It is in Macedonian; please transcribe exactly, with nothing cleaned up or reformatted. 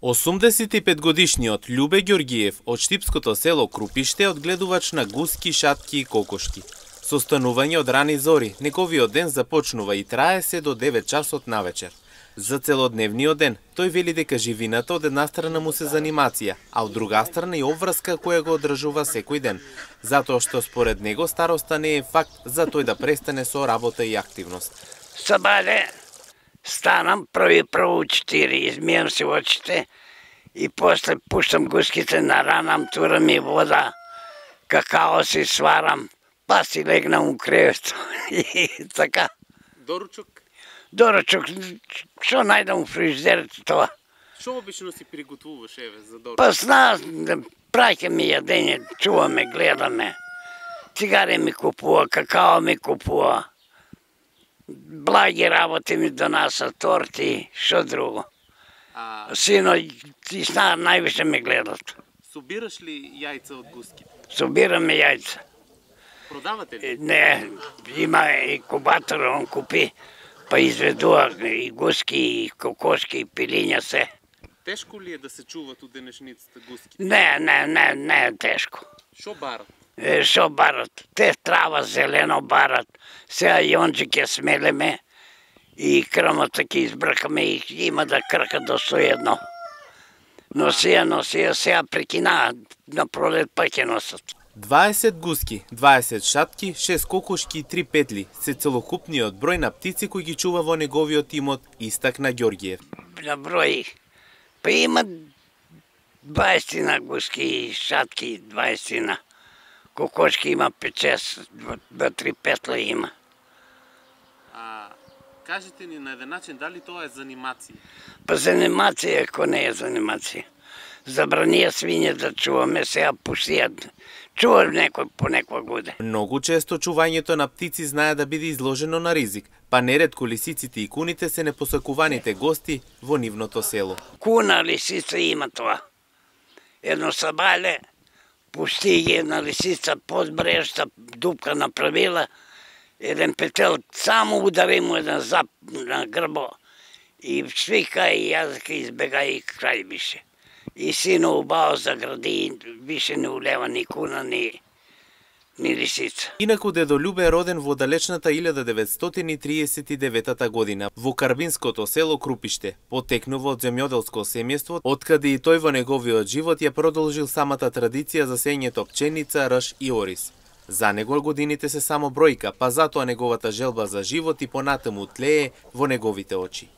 осумдесет и пет годишниот Љубе Ѓоргиев од штипското село Крупиште одгледувач на гуски, шатки и кокошки. Со станување од рани зори, неговиот ден започнува и трае се до девет часот навечер. За целодневниот ден, тој вели дека живината од една страна му се занимација, а од друга страна и обврска која го одржува секој ден, затоа што според него староста не е факт за тој да престане со работа и активност. Сабаде, станам први прво четири, измијам се очите и после пуштам гуските, наранам, турам и вода, какао си сварам, па си легнам у кревето и така. Доручок? Доручок, што најдам у фрижидерето тоа. Што обично си приготвуваш, еве, за доручок? Па зна, праќаме јадење, чуваме, гледаме. Цигари ми купува, какао ми купува. Благи работи ми донаса, торти, што друго. А... Сино и сна највише ме гледат. Собираш ли јајца од гуски? Собираме јајца. Продавате ли? Не, има и кубатор, он купи, па изведува и гуски, и кокошки, и пилиња се. Тешко ли е да се чуват у денешницата гуски? Не, не, не, не е тешко. Шо барат? Е, шо барат? Те трава зелено барат. Сега јонџи ќе смелеме и крмата ќе избркаме и има да крка до сто едно. Носија, носија, сега прекина, на пролет па ќе носат. дваесет гуски, дваесет шатки, шест кокошки и три петли се целокупниот број на птици кои ги чува во неговиот имот, истакна Ѓоргиев. На број, па има дваесет гуски, шатки дваесет, кокошки има пет-шест, два-три петла има. А кажете ни на еден начин дали тоа е занимација? Па занимација, ако не е занимација. Забранија свиње да чуваме, сега пушијат. Чуваш некој по некоја годе. Многу често чувањето на птици знае да биде изложено на ризик, па неретко лисиците и куните се непосакуваните гости во нивното село. Куна, лисица има тоа. Едно сабале, пусти ги една лисица под брешта, дупка направила, еден петел само удари му еден зап на грбо и свика и јазика избега и крај беше. И сино убао загради, више не улева ни куна, ни, ни лисица. Инаку дедо Љубе е роден во далечната илјада деветстотини и триесет и девета година во карбинското село Крупиште. Потекнува од земјоделско семејство, откаде и тој во неговиот живот ја продолжил самата традиција за сењето пченица, рж и ориз. За него годините се само бројка, па затоа неговата желба за живот и понатаму тлее во неговите очи.